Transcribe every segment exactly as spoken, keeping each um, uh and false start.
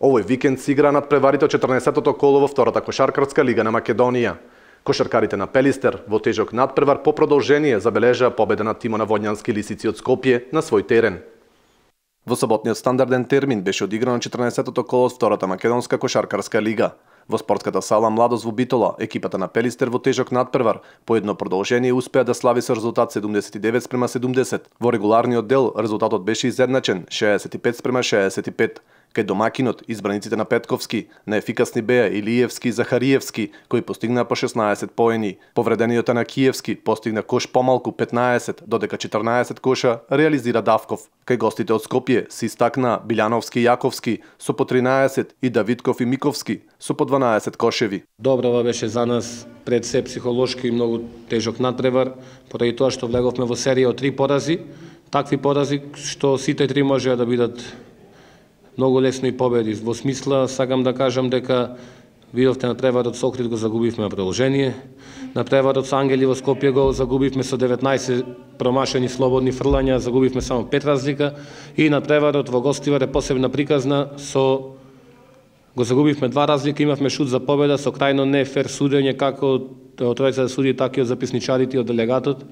Овој викенд се игра надпреварите од четрнаесеттото коло во втората кошаркарска лига на Македонија. Кошаркарите на Пелистер во тежок надпревар по продолжение забележаа победа над тимот на Водњански лисици од Скопје на свој терен. Во саботниот стандарден термин беше одиграно четрнаесеттото коло од втората македонска кошаркарска лига. Во спортската сала Младост во Битола, екипата на Пелистер во тежок надпревар по едно продолжение успеа да слави со резултат седумдесет и девет спрема седумдесет. Во регуларниот дел резултатот беше изедначен шеесет и пет спрема шеесет и пет. Кај домакинот, избраниците на Петковски, неефикасни беа Илиевски и Захариевски, кои постигнаа по шеснаесет поени. Повредениот на Киевски постигна кош помалку петнаесет, додека четрнаесет коша реализира Давков. Кај гостите од Скопје се истакнаа Билјановски и Јаковски со по тринаесет и Давидков и Миковски со по дванаесет кошеви. Добрава беше за нас пред се психолошки и многу тежок надпревар, поради тоа што влеговме во серија од три порази, такви порази што сите три можеа да бидат многу лесно и победи. Во смисла, сакам да кажам дека видовте на преварот со Охрид го загубивме на продолжение, на преварот со Ангели во Скопје го загубивме со деветнаесет промашени слободни фрлања, загубивме само пет разлика, и на преварот во Гостивар е посебна приказна, со го загубивме два разлика, имавме шут за победа со крајно не фер судење како од тројца суди, така и од записничарите и од делегатот.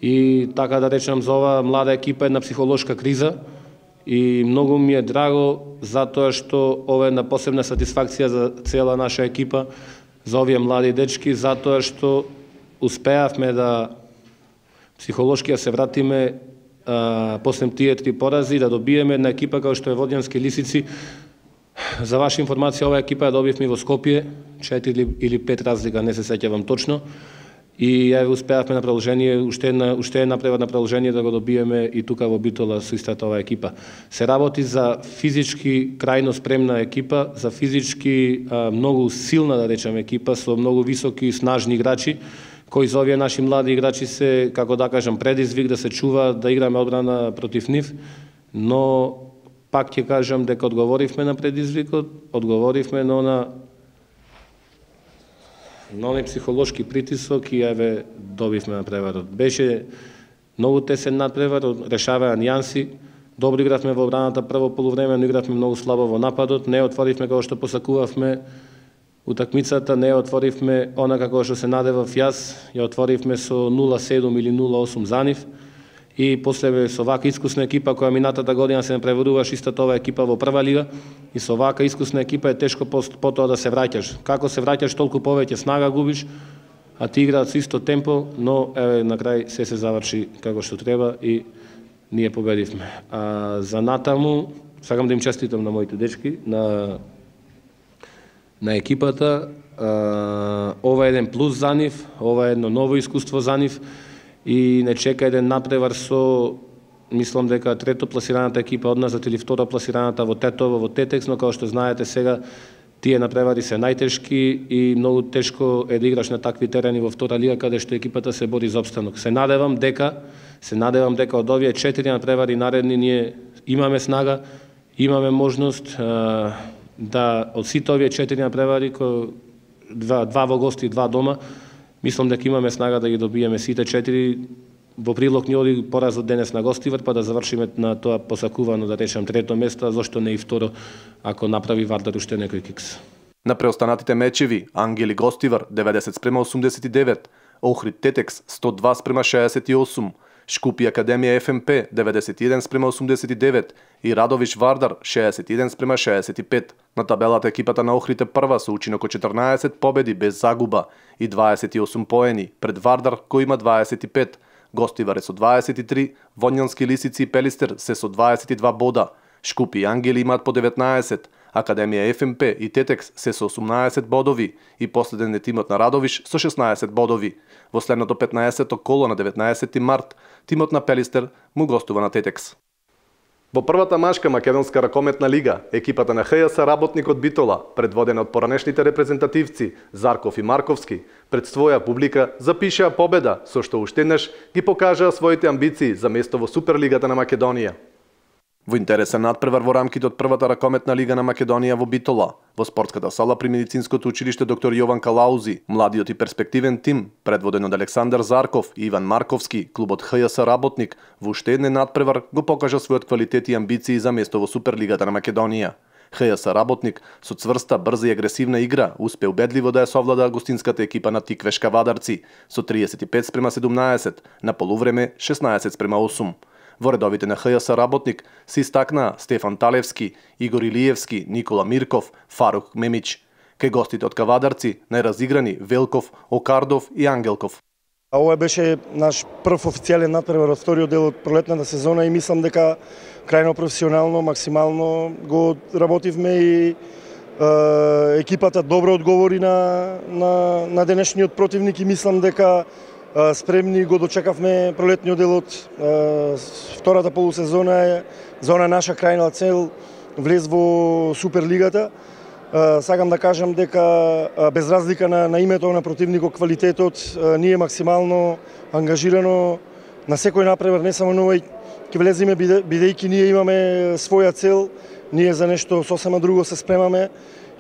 И така да речем, за оваа млада екипа една психолошка криза. И многу ми е драго затоа што ова е една посебна сатисфакција за цела наша екипа, за овие млади дечки, затоа што успеавме да психолошки се вратиме а, после тие три порази, да добиеме една екипа како што е Водњански лисици. За ваша информација, оваа екипа ја добивме во Скопје, четири или пет разлика, не се сеќавам точно. И ја успеавме на продолжение, уште една, уште една превар на продолжение да го добиеме и тука во Битола со истата оваа екипа. Се работи за физички крајно спремна екипа, за физички а, многу силна, да речеме, екипа со многу високи и снажни играчи, кои за овие наши млади играчи се, како да кажам, предизвик да се чува, да играме одбрана против нив, но пак ќе кажам дека одговоривме на предизвикот, одговоривме на она на оној психолошки притисок и еве добивме на преварот. Беше многу тесен надпревар, решаваа нијанси, добро игравме во одбраната прво полувреме, но игравме многу слабо во нападот, не отворивме како што посакувавме утакмицата, не отворивме она како што се надевав јас, ја отворивме со нула седум или нула осум за нив. И после со вака искусна екипа која минатата година се преваруваше истата оваа екипа во прва лига, и со вака искусна екипа е тешко потоа да се враќаш. Како се враќаш, толку повеќе снага губиш, а ти играат со исто темпо, но еве на крај се се заврши како што треба и ние победивме. А за натаму сакам да им честитам на моите дечки, на на екипата. А, ова е еден плюс за нив, ова е едно ново искуство за нив. И не чека еден надпревар со, мислам дека трето пласираната екипа од нас или второ пласираната во Тетово, во Тетекс, но како што знаете сега, тие надпревари се најтешки и многу тешко е да играш на такви терени во втора лига, каде што екипата се бори за опстанок. Се надевам дека, се надевам дека од овие четири надпревари наредни ние имаме снага, имаме можност а, да од сите овие четири надпревари, два, два во гости и два дома, мислам дека имаме снага да ги добиеме сите четири. Во прилог ни оди поразот денес на Гостивар, па да завршиме на тоа посакувано, да речем, трето место, а зошто не и второ, ако направи Вардар уште некој кикс. На преостанатите мечеви, Ангели Гостивар деветдесет спрема осумдесет и девет, Охрид Тетекс сто два спрема шеесет и осум, Шкупи Академија Еф Ем Пе деветдесет и еден спрема осумдесет и девет и Радовиш Вардар шеесет и еден спрема шеесет и пет. На табелата екипата на Охрид е прва со учинок од четрнаесет победи без загуба и дваесет и осум поени, пред Вардар кој има дваесет и пет. Гостивар е со дваесет и три, Водњански лисици и Пелистер се со дваесет и два бода, Шкупи и Ангели имаат по деветнаесет, Академија Еф Ем Пе и Тетекс се со осумнаесет бодови и последен е тимот на Радовиш со шеснаесет бодови. Во следното петнаесетто коло на деветнаесети март, тимот на Пелистер му гостува на Тетекс. Во првата машка македонска ракометна лига, екипата на Х Ја С Работник од Битола, предводена од поранешните репрезентативци Зарков и Марковски, пред своја публика запишаа победа, со што уште еднаш ги покажаа своите амбиции за место во Суперлигата на Македонија. Во интересен надпревар во рамките од првата ракометна лига на Македонија во Битола, во спортската сала при медицинското училиште доктор Јован Калаузи, младиот и перспективен тим, предводен од Александар Зарков и Иван Марковски, клубот Х Ја С Работник, во уште еден надпревар го покажа својот квалитет и амбиции за место во Суперлигата на Македонија. ХЈС Работник со цврста, брза и агресивна игра успе убедливо да ја совлада гостинската екипа на Тиквешка Вадарци со триесет и пет спрема седумнаесет, на полувреме шеснаесет спрема осум. Во редовите на ХЈС Работник се истакнаа Стефан Талевски, Игор Илиевски, Никола Мирков, Фарук Мемич. Кај гостите од Кавадарци најразиграни Велков, Окардов и Ангелков. Ова беше наш прв официјален натпревар од вториот дел од пролетната сезона и мислам дека крајно професионално, максимално го работивме и е, екипата добро одговори на, на, на денешниот противник и мислам дека е, спремни го дочекавме пролетниот дел од е, втората полусезона е за она наша крајна цел влез во Суперлигата. Сакам да кажам дека без разлика на, на името на противникот, квалитетот, ние максимално ангажирано на секој напревар, не само новој, ќе влеземе бидејќи ние имаме своја цел, ние за нешто сосема друго се спремаме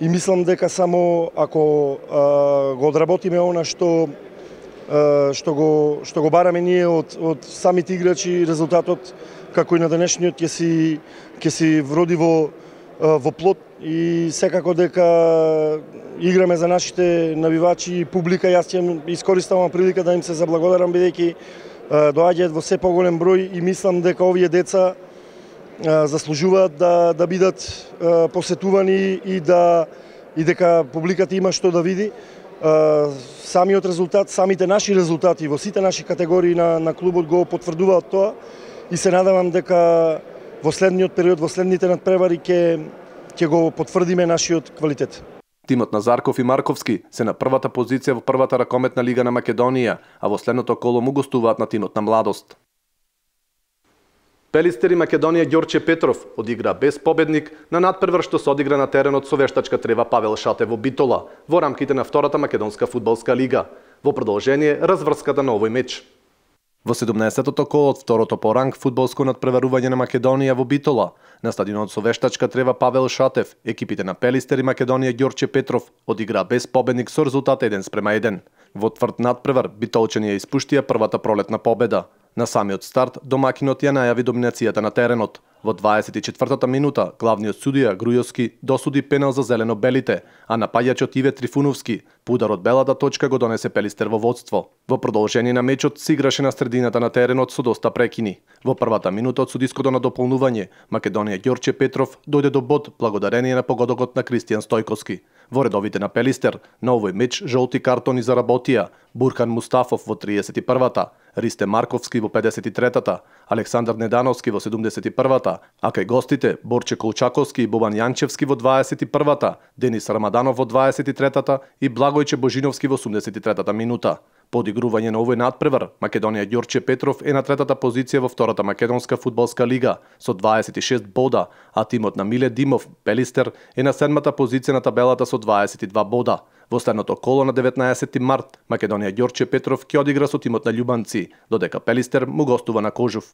и мислам дека само ако а, го одработиме она што а, што го што го бараме ние од од самите играчи, резултатот како и на денешниот ќе си ќе си вроди во во плод и секако дека играме за нашите навивачи и публика. Јас ќе искориставам прилика да им се заблагодарам бидејќи доаѓаат во се поголем број и мислам дека овие деца заслужуваат да да бидат посетувани и да и дека публиката има што да види. Самиот резултат, самите наши резултати во сите наши категории на на клубот го потврдуваат тоа и се надевам дека во следниот период, во следните надпревари ќе ќе го потврдиме нашиот квалитет. Тимот на Зарков и Марковски се на првата позиција во првата ракометна лига на Македонија, а во следното коло му гостуваат на тимот на Младост. Пелистер и Македонија Ѓорче Петров одигра без победник на надпревар што се одигра на теренот со вештачка трева Павел Шатев во Битола, во рамките на втората македонска фудбалска лига. Во продолжение разврската на овој меч. Во седумнаесеттото коло од второто по ранг фудбалско надпреварување на Македонија во Битола, на стадионот со вештачка трева Павел Шатев, екипите на Пелистер и Македонија Ѓорче Петров одигра без победник со резултат еден спрема еден. Во тврд надпревар битолчани ја испуштија првата пролетна победа. На самиот старт домакинот ја најави доминацијата на теренот. Во дваесет и четвртата минута главниот судија Грујовски досуди пенал за зелено-белите, а напаѓачот Иве Трифуновски по удар од белата точка го донесе Пелистер во водство. Во продолжение на мечот се играше на средината на теренот со доста прекини. Во првата минута од судиското на дополнување Македонија Ѓорче Петров дојде до бод благодарение на погодокот на Кристијан Стојковски. Во редовите на Пелистер на овој меч жолти картони заработија Бурхан Мустафов во триесет и првата, Ристе Марковски во педесет и третата, Александар Недановски во седумдесет и првата, а кај гостите Борче Колчаковски и Бобан Јанчевски во дваесет и првата, Денис Рамаданов во дваесет и третата и Благојче Божиновски во осумдесет и третата минута. По одигрување на овој надпревар, Македонија Ѓорче Петров е на третата позиција во втората македонска фудбалска лига со дваесет и шест бода, а тимот на Миле Димов, Пелистер, е на седмата позиција на табелата со дваесет и два бода. Во следното коло на деветнаесети март, Македонија Ѓорче Петров ќе одигра со тимот на Љубанци, додека Пелистер му гостува на Кожув.